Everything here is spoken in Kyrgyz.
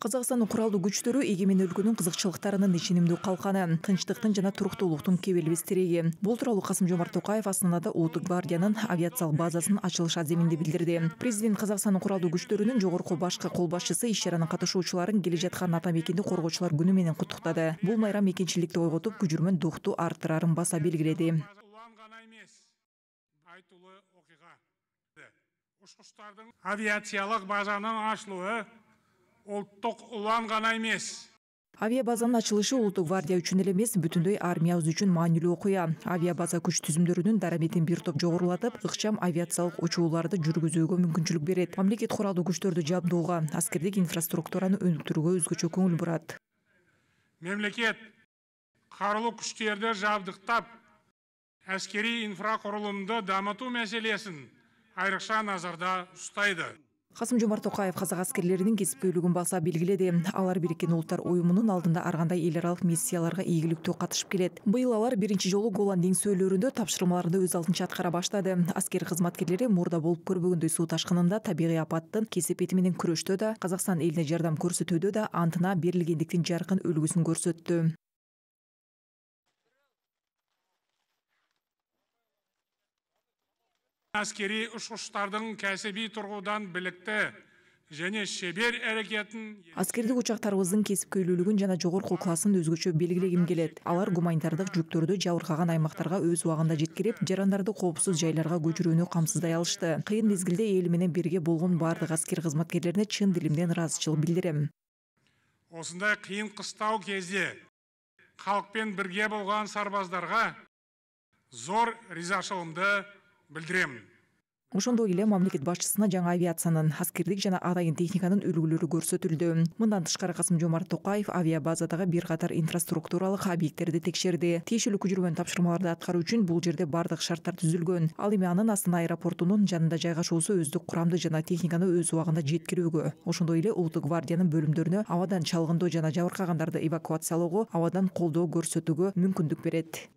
Казакстандын куралдуу күчтөрү эгемен өлкөнүн кызыкчылыктарынын ишенимдүү калканы, тынчтыктын жана туруктуулуктун кебелбес тиреги. Бул тууралуу Касым-Жомарт Токаев Астанада Улуттук гвардиянын авиациялык базасынын ачылыш аземинде билдирди. Президент Казакстандын куралдуу күчтөрүнүн жогорку башкы кол башчысы иш-чаранын катышуучуларын келе жаткан ата мекенди коргоочулар күнү менен куттуктады. Бул майрам мекенчиликти ойготуп, күжүрмөн духту арттырарын баса белгиледи. Учкучтардын авиациялык базанын ачылуы улуттук улан гана эмес. Авиа базанын ачылышы Улуттук гвардия үчүн эле эмес, бүтүндөй армиябыз үчүн маанилүү окуя. Авиа база күч түзүмдөрүнүн дараметин бир топ жогорулатып, ыкчам авиациялык учууларды жүргүзүүгө мүмкүнчүлүк берет. Мамлекет куралдуу күчтөрдү жабдууга, аскердик инфраструктураны өнүктүрүүгө өзгөчө көңүл бурат. Мемлекет карулуу күчтөрдү жабдыктап, аскерий инфракурулумду дамытуу маселесин айрыкча назарда устайды. Касым-Жомарт Токаев казак аскерлеринин кесипкөйлүгүн баса белгиледи. Алар Бириккен Улуттар уюмунун алдында ар кандай эл аралык миссияларга ийгиликтүү катышып келет. Быйыл алар биринчи жолу Голланд деңсөөлөрүндө тапшырмаларды өз алдынча аткара баштады. Аскер кызматкерлери мурда болуп көрбөгөндөй суу ташкынында, табигый апаттын кесепети менен күрөштө да, Казакстан элине жардам көрсөтүүдө да антына берилгендиктин жаркын үлгүсүн көрсөттү. Аскери учкучтардын кәсиби тургудан биликти және шебер аракетин, аскердик учактарыбыздын кесипкөйлүүлүгүн жана жогорку классын өзгөчө белгилегим келет. Алар гуманитардык жүктөрдү жабыркаган аймактарга өз убагында жеткирип, жарандарды коопсуз жайларга көчүрүүнү камсыздай алышты. Кыйын мезгилде эл менен бирге болгон бардык аскер кызматкерлерине чын дилимден ыраазычылык билдирем. Осындай кыйын кыстау кезде калкпен бирге болгон сарбаздарга зор ризачылыгымды билдирем. Ошондой эле мамлекет башчысына жаңы авиациянын, аскердик жана атайын техниканын үлгүлөрү көрсөтүлдү. Мындан тышкары Касым-Жомарт Токаев авиа базадагы бир катар инфраструктуралык объекттерди текшерди. Тиешелүү күжүрмөн тапшырмаларды аткаруу үчүн бул жерде бардык шарттар түзүлгөн. Ал эми анын Астана аэропортунун жанында жайгашуусу өздүк курамды жана техниканы өз убагында жеткирүүгө, ошондой эле Улуттук гвардиянын бөлүмдөрүнө абадан чалгындоо жана жабыркагандарды эвакуациялоого, абадан колдоо көрсөтүүгө мүмкүндүк берет.